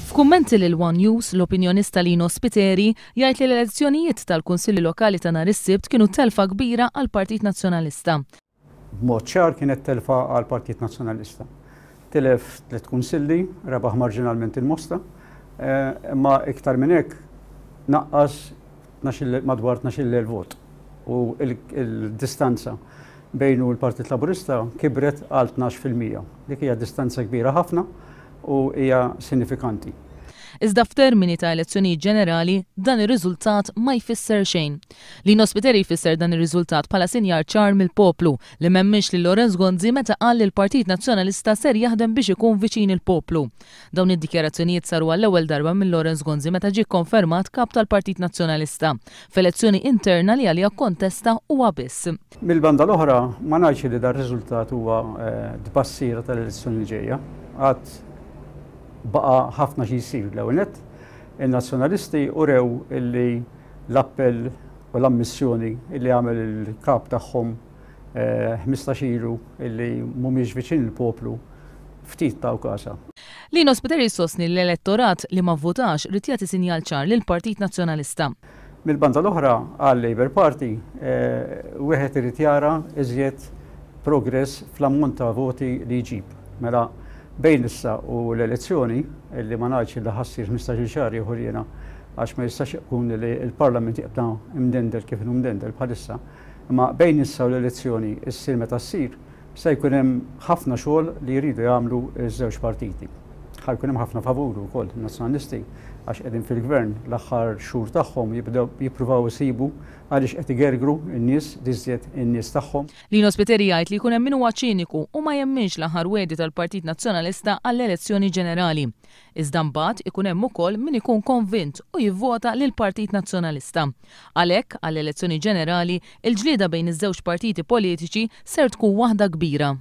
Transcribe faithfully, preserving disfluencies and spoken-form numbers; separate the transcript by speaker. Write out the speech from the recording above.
Speaker 1: F'kummenti lil One News, l-opinjonista Lino Spiteri jgħid li l-elezzjonijiet tal-Kunsilli Lokali ta' nhar is-Sibt kienu telfa kbira għall-Partit Nazzjonalista.
Speaker 2: B'mod ċar kienet telfa għall-Partit Nazzjonalista. Tilef tliet kunsilli, rebaħ marġinalment il-Mosta, imma iktar minn hekk naqqas madwar tnax-il elf vot. U il-distanza bejnu l-Partit Laburista kibret għal tnax fil-mija. Dik hija distanza kbira ħafna u hija sinifikanti.
Speaker 1: Iżda f'termini ta' elezzjonijiet ġenerali, dan ir-riżultat ma jfisser xejn. Lino Spiteri jfisser dan ir-riżultat bħala sinjal ċar mill-poplu li m'emminx lil Lawrence Gonzi meta qal li l-Partit Nazzjonalista ser jaħdem biex ikun viċin il-poplu. Dawn id-dikjarazzjonijiet saru għall-ewwel darba minn Lawrence Gonzi meta ġie konfermat kap tal-Partit Nazzjonalista f'elezzjoni interna li għaliha kontesta huwa biss.
Speaker 2: Mill-banda l-oħra ma ngħidx li dar riżultat huwa tbassira tal-elezzjoni li ġejja. Għad baqa ħafna xi jsir. L-ewwel nett, in-nazzjonalisti urew illi l-appell u l-ammissjoni illi għamel il-kap tagħhom ħmistax ilu illi mhumiex viċin il-poplu ftit taw kasa.
Speaker 1: Lino Spiteri sostni l-elettorat li ma vvotax rid jagħti sinjal ċar lill-Partit Nazzjonalista.
Speaker 2: Mill-banda l-oħra għal-Labour Party wieħed irid jara iżjed progress fl-ammont ta' voti li jġib. Mela bejn issa u l-elezzjoni, illi ma ngħidx li ħassir ħmistax-il xahar ieħor jiena għax ma jistax ikun li l-Parlament jibqa' imdendel kif inhu mdendel bħalissa, imma bejn issa u l-elezzjoni issir meta ssir se jkun hemm ħafna xogħol li jridu jagħmlu ż-żewġ partiti. Ħa jkun hemm ħafna favuru wkoll in-nazzjonalisti għax qegħdin fil-gvern l-aħħar xhur tagħhom jibdew jippruvaw isibu għaliex qed igergru n-nies, diżjed in-nies tagħhom.
Speaker 1: Lino Spiteri jgħid li jkun hemm min huwa ċiniku u ma jemminx l-aħħar wedi tal-Partit Nazzjonalista għall-elezzjoni ġenerali. Iżda mbagħad ikun hemm ukoll min ikun konvint u jivvota lill-Partit Nazzjonalista. Għalhekk għall-elezzjoni ġenerali, il-ġlieda bejn iż-żewġ partiti politiċi ser tkun waħda kbira.